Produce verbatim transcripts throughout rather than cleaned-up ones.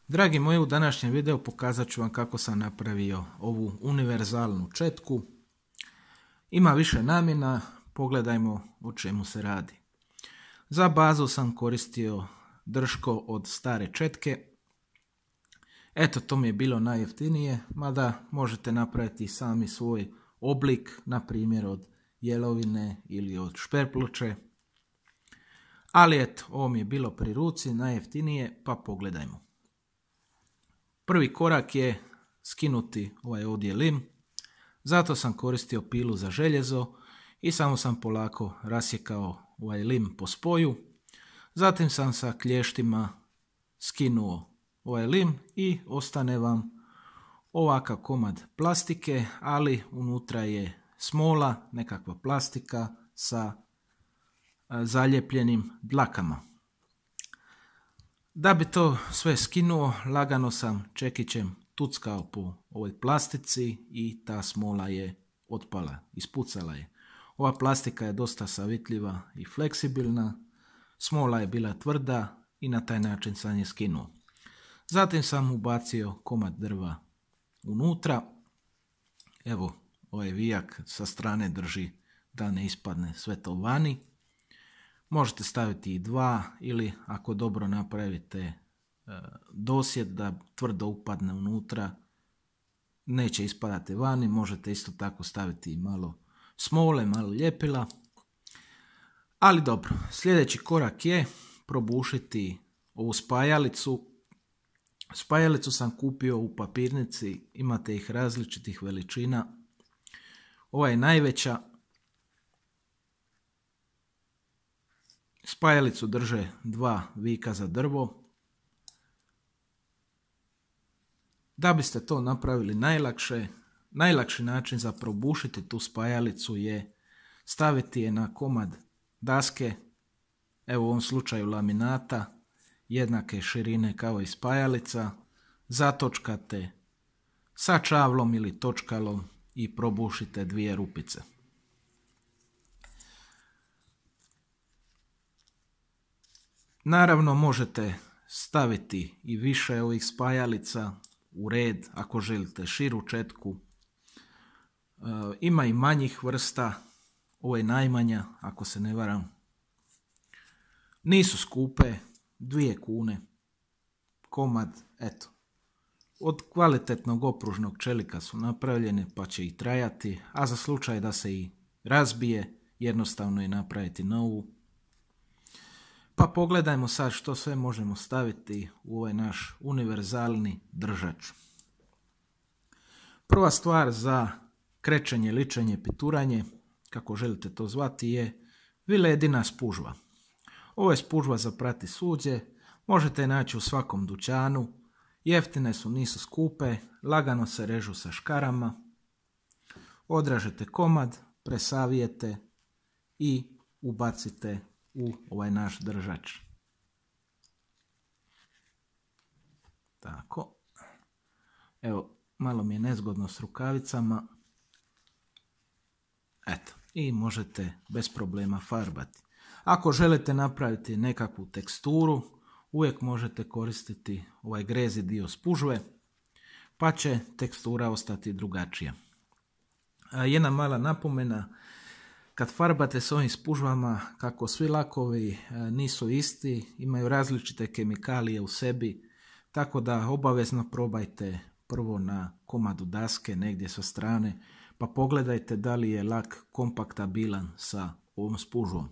Dragi moji, u današnjem videu pokazat ću vam kako sam napravio ovu univerzalnu četku. Ima više namjena, pogledajmo o čemu se radi. Za bazu sam koristio drško od stare četke. Eto, to mi je bilo najjeftinije, mada možete napraviti sami svoj oblik, na primjer od jelovine ili od šperpluče. Ali eto, ovo mi je bilo pri ruci, najjeftinije, pa pogledajmo. Prvi korak je skinuti ovaj ovdje lim, zato sam koristio pilu za željezo i samo sam polako rasjekao ovaj lim po spoju. Zatim sam sa klještima skinuo ovaj lim i ostane vam ovakav komad plastike, ali unutra je smola, nekakva plastika sa zaljepljenim dlakama. Da bi to sve skinuo, lagano sam čekićem tuckao po ovoj plastici i ta smola je otpala, ispucala je. Ova plastika je dosta savitljiva i fleksibilna, smola je bila tvrda i na taj način sam je skinuo. Zatim sam ubacio komad drva unutra. Evo, ovaj vijak sa strane drži da ne ispadne sve to vani. Možete staviti i dva ili ako dobro napravite e, dosjed da tvrdo upadne unutra, neće ispadati vani. Možete isto tako staviti i malo smole, malo ljepila. Ali dobro, sljedeći korak je probušiti ovu spajalicu. Spajalicu sam kupio u papirnici, imate ih različitih veličina. Ova je najveća. Spajalicu drže dva vika za drvo. Da biste to napravili najlakše, najlakši način za probušiti tu spajalicu je staviti je na komad daske, evo u ovom slučaju laminata, jednake širine kao i spajalica, zatočkate sa čavlom ili točkalom i probušite dvije rupice. Naravno možete staviti i više ovih spajalica u red ako želite širu četku. E, ima i manjih vrsta, ovo je najmanja ako se ne varam. Nisu skupe, dvije kune komad, eto. Od kvalitetnog opružnog čelika su napravljene pa će i trajati, a za slučaj da se i razbije jednostavno je napraviti novu. Pa pogledajmo sad što sve možemo staviti u ovaj naš univerzalni držač. Prva stvar za krećenje, ličenje, pituranje, kako želite to zvati, je viledina spužva. Ovo je spužva za prati suđe, možete je naći u svakom dućanu, jeftine su, nisu skupe, lagano se režu sa škarama. Odražete komad, presavijete i ubacite u ovaj naš držač. Tako. Evo, malo mi je nezgodno s rukavicama. Eto, i možete bez problema farbati. Ako želite napraviti nekakvu teksturu, uvijek možete koristiti ovaj grezi dio spužve, pa će tekstura ostati drugačija. Jedna mala napomena, kad farbate s ovim spužvama, kako svi lakovi nisu isti, imaju različite kemikalije u sebi, tako da obavezno probajte prvo na komadu daske negdje sa strane, pa pogledajte da li je lak kompaktabilan sa ovom spužvom.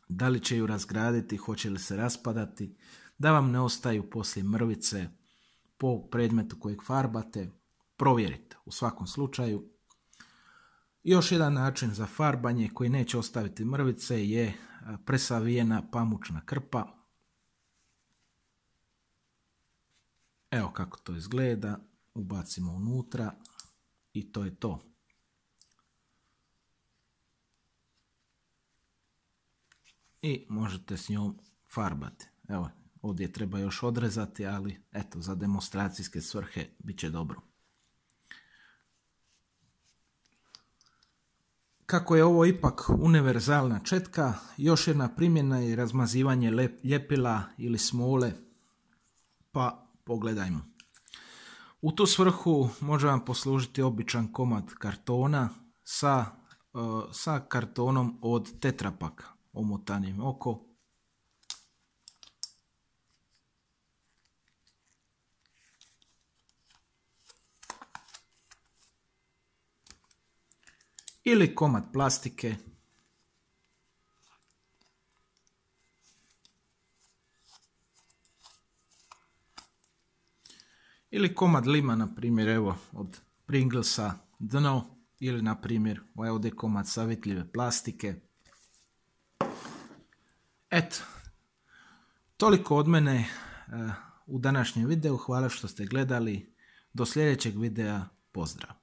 Da li će ju razgraditi, hoće li se raspadati, da vam ne ostaju poslije mrvice po predmetu kojeg farbate, provjerite u svakom slučaju. Još jedan način za farbanje koji neće ostaviti mrvice je presavijena pamučna krpa. Evo kako to izgleda, ubacimo unutra i to je to. I možete s njom farbati. Evo, ovdje treba još odrezati, ali eto, za demonstracijske svrhe bit će dobro. Kako je ovo ipak univerzalna četka, još jedna primjena je razmazivanje ljepila ili smole, pa pogledajmo. U tu svrhu može vam poslužiti običan komad kartona sa, uh, sa kartonom od Tetra Pak omotanim oko. Ili komad plastike. Ili komad lima, na primjer, evo, od Pringlesa dno, ili na primjer, ovaj ovdje komad savjetljive plastike. Eto, toliko od mene uh, u današnjem videu. Hvala što ste gledali. Do sljedećeg videa, pozdrav.